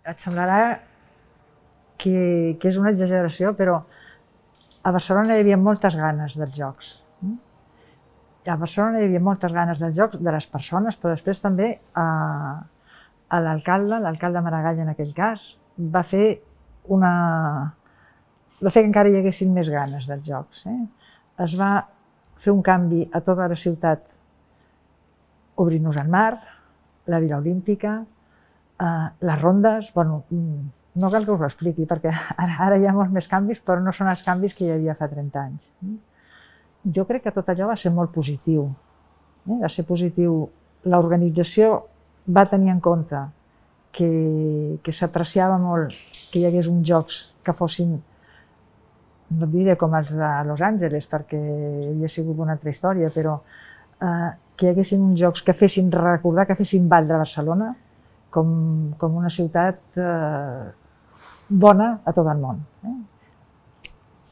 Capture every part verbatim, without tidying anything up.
Et semblarà que, que és una exageració, però a Barcelona hi havia moltes ganes dels jocs. A Barcelona hi havia moltes ganes dels jocs, de les persones, però després també a, a l'alcalde, l'alcalde Maragall en aquell cas, va fer una... va fer que encara hi haguessin més ganes dels jocs. Eh? Es va fer un canvi a tota la ciutat, obrint-nos al mar, la Vila Olímpica, eh, les rondes... Bueno, no cal que us ho expliqui, perquè ara, ara hi ha molts més canvis, però no són els canvis que hi havia fa trenta anys. Jo crec que tot allò va ser molt positiu. Eh? Va ser positiu. L'organització va tenir en compte que, que s'apreciava molt que hi hagués uns jocs que fossin, no et diré com els de Los Angeles, perquè havia sigut una altra història, però eh, que hi haguessin uns jocs que fessin recordar, que fessin valdre Barcelona com, com una ciutat eh, bona a tot el món. Eh?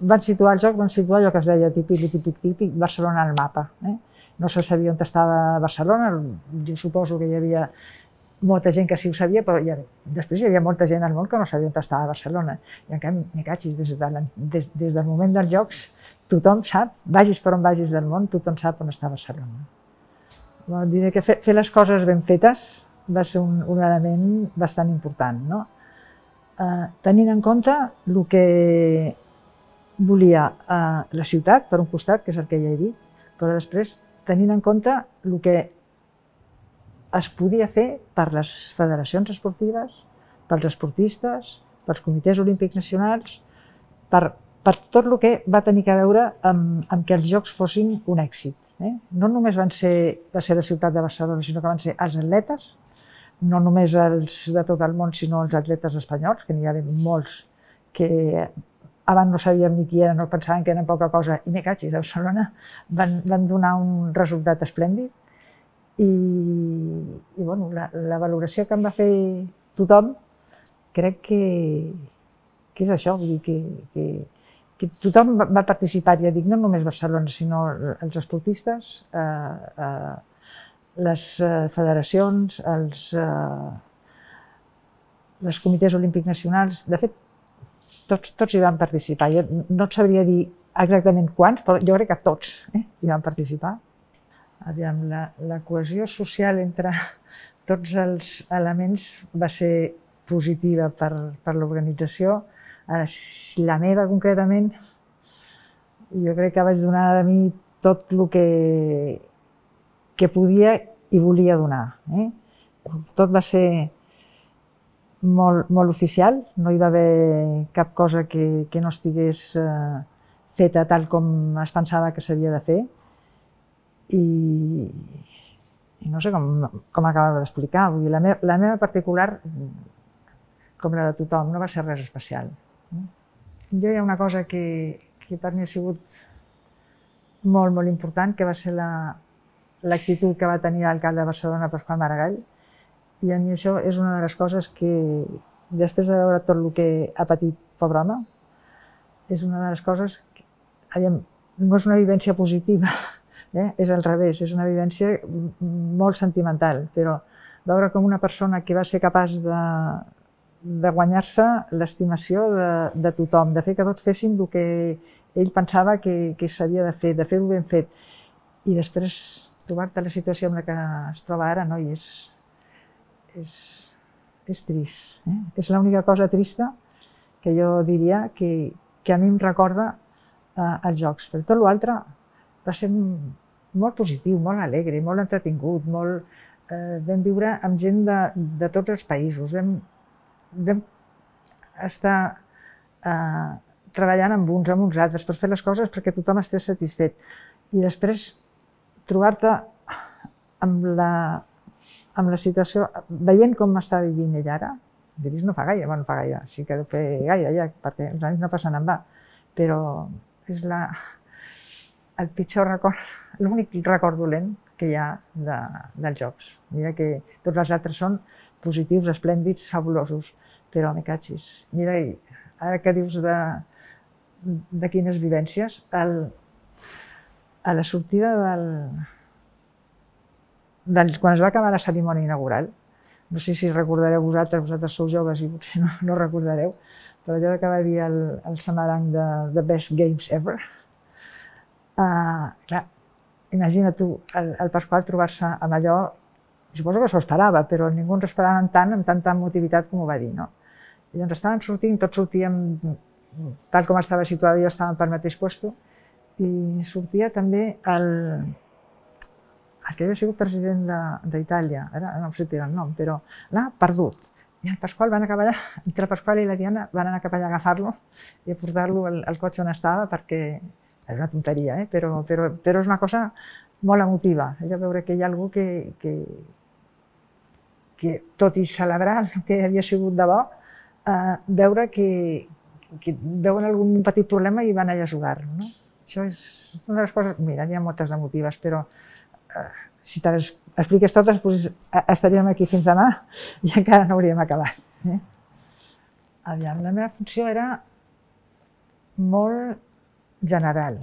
Van situar el joc, van situar allò que es deia típic, típic, típic, Barcelona al mapa. Eh? No se sabia on estava Barcelona, jo suposo que hi havia molta gent que sí ho sabia, però ja, després hi havia molta gent al món que no sabia on estava Barcelona. I en canvi, me cachis, des, de la, des, des del moment dels jocs, tothom sap, vagis per on vagis del món, tothom sap on està Barcelona. Bueno, diré que fer, fer les coses ben fetes va ser un, un element bastant important. No? Eh, tenint en compte el que volia eh, la ciutat, per un costat, que és el que ja he dit, però després tenint en compte el que es podia fer per les federacions esportives, pels esportistes, pels comitès olímpics nacionals, per, per tot el que va tenir a veure amb, amb que els jocs fossin un èxit. Eh? No només van ser, va ser la ciutat de Barcelona, sinó que van ser els atletes, no només els de tot el món, sinó els atletes espanyols, que n'hi havia molts que abans no sabíem ni qui eren, no pensaven que eren poca cosa, i me cachis, a Barcelona van, van donar un resultat esplèndid. I, i bueno, la, la valoració que em va fer tothom, crec que, que és això, vull dir que, que, que tothom va participar, ja dic, no només Barcelona, sinó els esportistes, eh, eh, les federacions, els, eh, els comitès olímpics nacionals, de fet, Tots, tots hi van participar. Jo no et sabria dir exactament quants, però jo crec que tots eh, hi van participar. Aviam, la, la cohesió social entre tots els elements va ser positiva per, per l'organització. La meva, concretament, jo crec que vaig donar de mi tot el que, que podia i volia donar. Eh? Tot va ser Molt, molt oficial, no hi va haver cap cosa que, que no estigués eh, feta tal com es pensava que s'havia de fer. I, i no sé com, com acabava d'explicar, vull dir, la, me, la meva particular, com la de tothom, no va ser res especial. Jo hi ha una cosa que, que per mi ha sigut molt, molt important, que va ser l'actitud que va tenir l'alcalde de Barcelona, Pasqual Maragall. I a mi això és una de les coses que, després de veure tot el que ha patit, pobre home, és una de les coses que, aviam, no és una vivència positiva, eh? És al revés, és una vivència molt sentimental, però veure com una persona que va ser capaç de, de guanyar-se l'estimació de, de tothom, de fer que tots fessin el que ell pensava que, que s'havia de fer, de fer-ho ben fet, i després trobar-te la situació en la que es troba ara, no? I és, És, és trist. Eh? És l'única cosa trista que jo diria que, que a mi em recorda eh, els jocs. Però tot l'altre va ser molt positiu, molt alegre, molt entretingut, molt, eh, vam viure amb gent de, de tots els països, vam, vam estar eh, treballant amb uns, amb uns altres, per fer les coses perquè tothom estés satisfet. I després trobar-te amb la amb la situació, veient com està vivint ell ara, diries no fa gaire, bueno, no fa gaire, sí que deu fer gaire ja, perquè els anys no passen en va, però és la, el pitjor record, l'únic record dolent que hi ha de, dels jocs. Mira que tots els altres són positius, esplèndids, fabulosos, però me cachis. Mira, ara que dius de, de quines vivències, el, a la sortida del... Doncs quan es va acabar la cerimònia inaugural, no sé si recordareu vosaltres, vosaltres sou joves i potser no, no recordareu, però allò que va dir el, el Samaranc de The Best Games Ever. Uh, clar, imagina tu, el, el Pasqual trobar-se amb allò, suposo que s'ho esperava, però ningú ens esperava tant, amb tanta emotivitat com ho va dir, no? I doncs estaven sortint, tots sortíem, tal com estava situada, jo estava pel mateix lloc, i sortia també el, el que havia sigut president d'Itàlia, ara no sé dir el nom, però l'ha perdut. I el Pasqual van acabar allà, entre el Pasqual i la Diana van anar cap allà a agafar-lo i a portar-lo al, al cotxe on estava, perquè és una tonteria, eh? però, però, però és una cosa molt emotiva. Allò veure que hi ha algú que, que, que tot i celebrar el que havia sigut de bo, eh, veure que, que veuen algun petit problema i van allà a jugar-lo. No? Això és una de les coses, mira, hi ha moltes emotives, però si te les expliques totes, doncs estaríem aquí fins demà i encara no hauríem acabat. Eh? Aviam, la meva funció era molt general.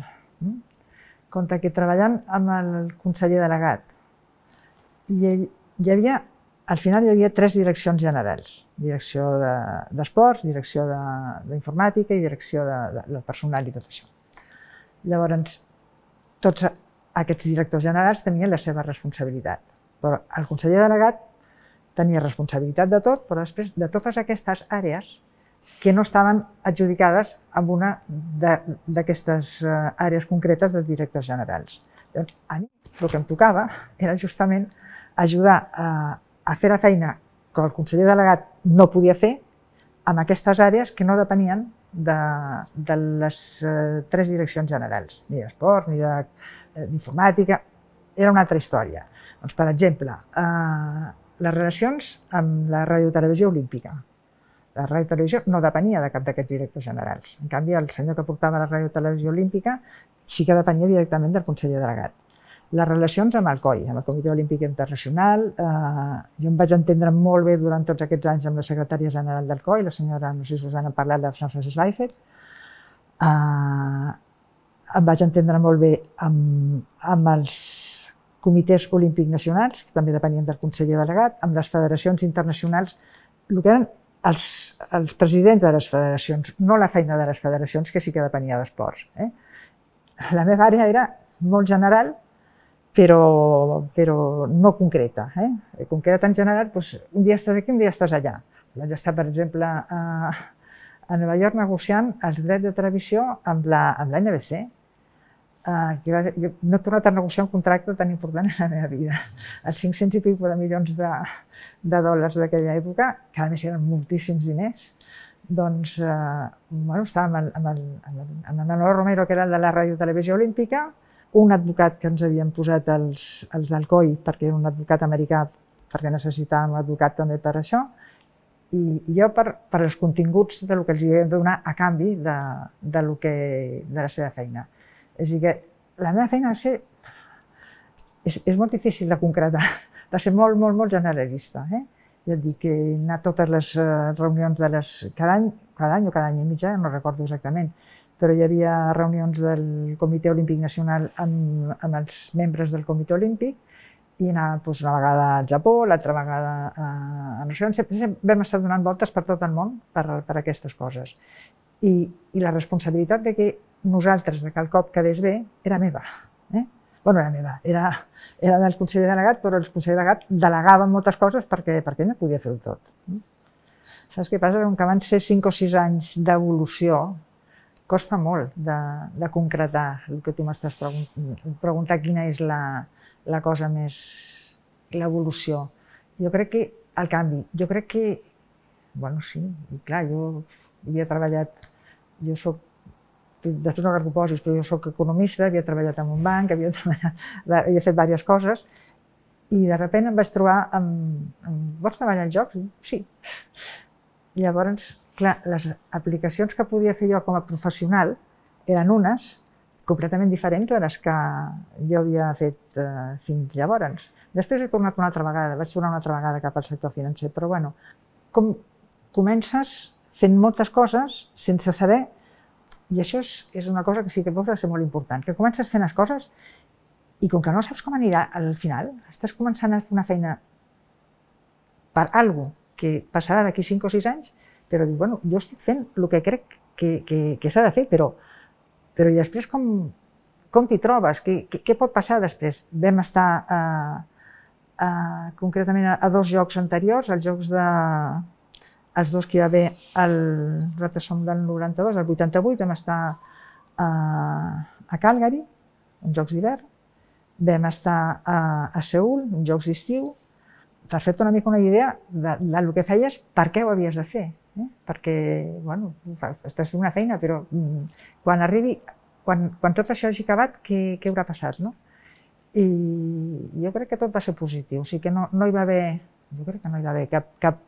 Compte que treballant amb el conseller delegat, hi havia, al final hi havia tres direccions generals. Direcció d'esports, direcció d'informàtica i direcció del personal i tot això. Llavors, tots aquests directors generals tenien la seva responsabilitat, però el conseller delegat tenia responsabilitat de tot, però després de totes aquestes àrees que no estaven adjudicades amb una d'aquestes àrees concretes dels directors generals. Llavors, a mi el que em tocava era justament ajudar a fer la feina que el conseller delegat no podia fer amb aquestes àrees que no depenien de les tres direccions generals, ni d'esport, ni de d'informàtica, era una altra història. Doncs, per exemple, eh, les relacions amb la radiotelevisió olímpica. La radiotelevisió no depenia de cap d'aquests directors generals. En canvi, el senyor que portava la radiotelevisió olímpica sí que depenia directament del conseller delegat. Les relacions amb el C O I, amb el Comitè Olímpic Internacional, eh, jo em vaig entendre molt bé durant tots aquests anys amb la secretària general del C O I, la senyora, no sé si us han parlat de Jean-Francis Weifert, eh, em vaig entendre molt bé amb, amb els comitès olímpics nacionals, que també depenien del conseller delegat, amb les federacions internacionals, el que eren els, els presidents de les federacions, no la feina de les federacions, que sí que depenia d'esports. Eh? La meva àrea era molt general, però, però no concreta. Eh? Com que era tan general, doncs, un dia estàs aquí, un dia estàs allà. Vaig estar, per exemple, a, a Nova York negociant els drets de televisió amb la, amb la N B C. Uh, jo no he tornat a negociar un contracte tan important en la meva vida. Els cinc-cents i pico de milions de, de dòlars d'aquella època, que a més eren moltíssims diners, doncs uh, bueno, estàvem amb, amb, el, amb, el, amb el Manolo Romero, que era el de la radiotelevisió olímpica, un advocat que ens havien posat els, els del C O I, perquè era un advocat americà, perquè necessitàvem un advocat també per això, i jo per, per els continguts del que els havia de donar a canvi de, de, lo que, de la seva feina. És a dir, que la meva feina va ser, és, és molt difícil de concretar, va ser molt, molt, molt generalista. Eh? Ja et dic que anar a totes les reunions de les... Cada any, cada any o cada any i mitja, no recordo exactament, però hi havia reunions del Comitè Olímpic Nacional amb, amb els membres del Comitè Olímpic i anar doncs, una vegada al Japó, l'altra vegada a, a no sé on. Sempre vam estar donant voltes per tot el món per, per aquestes coses. I, i la responsabilitat de que nosaltres, de que el cop quedés bé, era meva. Eh? Bueno, era meva, era, era del conseller delegat, però el conseller delegat delegava moltes coses perquè, perquè ell no podia fer-ho tot. Saps què passa? Com que van ser cinc o sis anys d'evolució, costa molt de, de concretar el que tu m'estàs preguntant, preguntar quina és la, la cosa més, l'evolució. Jo crec que el canvi, jo crec que, bueno, sí, i clar, jo havia treballat, jo soc, després no cal que ho posis, però jo soc economista, havia treballat en un banc, havia, treballat, havia fet diverses coses, i de sobte em vaig trobar amb, amb vols treballar als jocs? Sí. Llavors, clar, les aplicacions que podia fer jo com a professional eren unes completament diferents de les que jo havia fet eh, fins llavors. Després he tornat una altra vegada, vaig tornar una altra vegada cap al sector financer, però bueno, com comences fent moltes coses sense saber. I això és, és una cosa que sí que pot ser molt important, que comences fent les coses i com que no saps com anirà al final, estàs començant a fer una feina per alguna cosa que passarà d'aquí cinc o sis anys, però dic, bueno, jo estic fent el que crec que, que, que s'ha de fer, però, però i després com, com t'hi trobes? Què, què, què pot passar després? Vam estar eh, eh, concretament a, a dos jocs anteriors, els jocs de... els dos que hi va haver, el, nosaltres som del noranta-dos, el vuitanta-vuit, vam estar a, a Calgary, uns jocs d'hivern, vam estar a, a Seül, uns jocs d'estiu. T'has fet una mica una idea de, del que feies, per què ho havies de fer. Eh? Perquè, bueno, estàs fent una feina, però quan arribi, quan, quan tot això hagi acabat, què, què haurà passat, no? I jo crec que tot va ser positiu, o sigui que no, no hi va haver, jo crec que no hi va haver cap, cap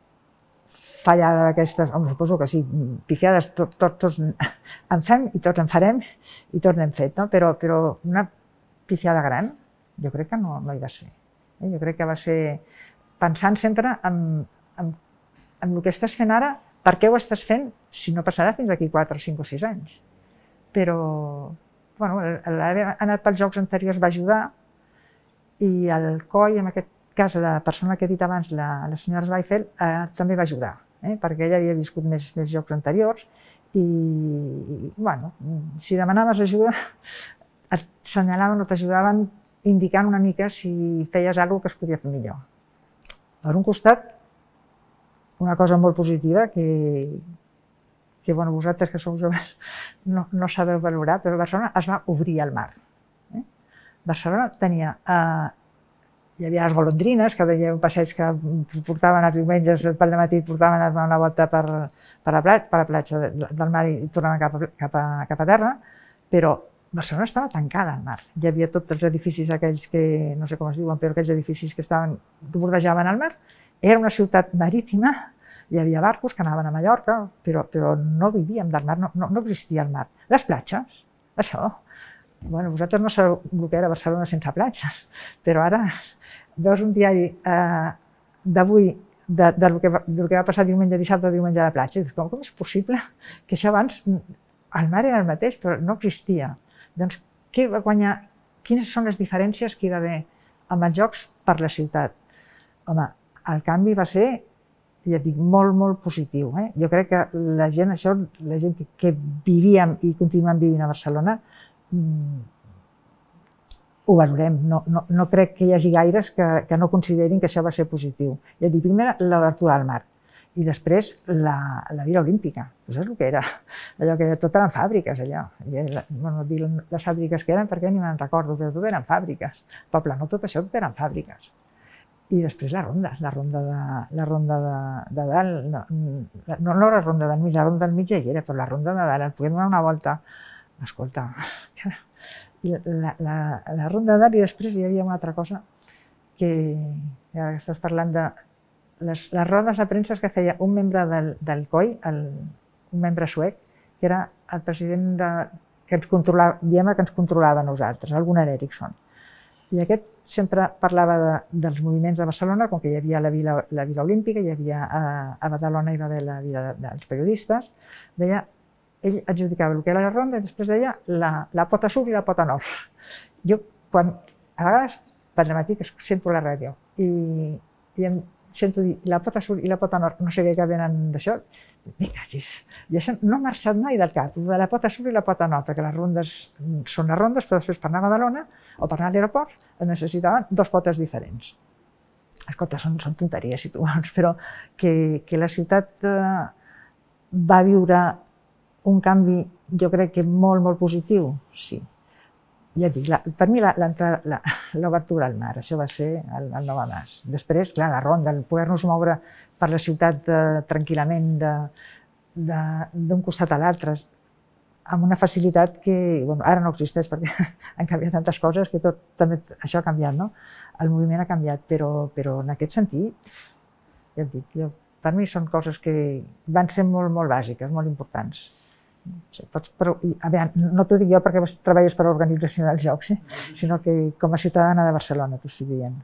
fallada d'aquestes, home, suposo que sí, pifiades, tot, tot, tots en fem i tots en farem i tots n'hem fet, no? Però, però una pifiada gran, jo crec que no, no hi va ser. Eh? Jo crec que va ser pensant sempre en, en, en el que estàs fent ara, per què ho estàs fent, si no passarà fins d'aquí quatre, cinc o sis anys. Però, bueno, l'haver anat pels jocs anteriors va ajudar i el C O I, en aquest cas la persona que he dit abans, la, la senyora Zweifeld, eh, també va ajudar, eh, perquè ella havia viscut més, més jocs anteriors i, bueno, si demanaves ajuda, et senyalaven o t'ajudaven indicant una mica si feies alguna cosa que es podia fer millor. Per un costat, una cosa molt positiva que, que bueno, vosaltres que sou joves no, no sabeu valorar, però Barcelona es va obrir al mar. Eh? Barcelona tenia, eh, hi havia les golondrines, que deia un passeig que portaven els diumenges pel matí, portaven a donar una volta per, per, la, platja, per la platja del mar i tornaven cap a, cap a, cap a terra, però Barcelona estava tancada al mar. Hi havia tots els edificis aquells que, no sé com es diuen, però aquells edificis que estaven, que bordejaven el mar. Era una ciutat marítima, hi havia barcos que anaven a Mallorca, però, però no vivíem del mar, no, no, no existia el mar. Les platges, això. Bueno, vosaltres no sabeu el que era Barcelona sense platges, però ara veus un diari eh, d'avui de, de, lo que va, del que va passar diumenge, dissabte, diumenge a la platja, i dius, com, com és possible que això abans, el mar era el mateix, però no existia. Doncs, què va guanyar? Quines són les diferències que hi va haver amb els jocs per la ciutat? Home, el canvi va ser, ja et dic, molt, molt positiu. Eh? Jo crec que la gent, això, la gent que, que vivíem i continuem vivint a Barcelona, mmm, ho valorem. No, no, no crec que hi hagi gaires que, que no considerin que això va ser positiu. Ja et dic, primer, l'obertura al mar. I després la, la Vila Olímpica, això és el que era, allò que tot eren fàbriques, allò. Bueno, dir les fàbriques que eren perquè ni me'n recordo, però tot eren fàbriques. Poble, no tot això, tot eren fàbriques. I després la ronda, la ronda de, la ronda de, de dalt, no, no, no la ronda del mig, la ronda del mig ja hi era, però la ronda de dalt, podíem donar una volta, escolta, la, la, la ronda de dalt i després hi havia una altra cosa que, ja que estàs parlant de Les, les rodes de premsa que feia un membre del, del C O I, el, un membre suec, que era el president de, que ens controlava, diem que ens controlava a nosaltres, el Gunnar Eriksson. I aquest sempre parlava de, dels moviments de Barcelona, com que hi havia la Vila, la Vila Olímpica, hi havia a, a Badalona hi va haver la Vila de, dels periodistes, deia, ell adjudicava el que era la ronda i després deia la, la pota sud i la pota nord. Jo, quan, a vegades, per matí, que sento la ràdio i, i em sento dir la pota sud i la pota nord, no sé què venen d'això, me cagis. I això no ha marxat mai del cap, de la pota sud i la pota nord, perquè les rondes són les rondes, però després per anar a Badalona o per anar a l'aeroport es necessitaven dos potes diferents. Escolta, són, són tonteries, si tu vols, però que, que la ciutat eh, va viure un canvi, jo crec que molt, molt positiu, sí. Ja et dic, la, per mi l'obertura al mar, això va ser el, el nou mas. Després, clar, la ronda, el poder-nos moure per la ciutat eh, tranquil·lament d'un costat a l'altre, amb una facilitat que bueno, ara no existeix perquè han canviat tantes coses que tot, també això ha canviat, no? El moviment ha canviat, però, però en aquest sentit, ja et dic, jo, per mi són coses que van ser molt, molt bàsiques, molt importants. Pots, però, a veure, no t'ho dic jo perquè treballes per l'organització dels jocs, eh? Sinó que com a ciutadana de Barcelona t'ho estic dient.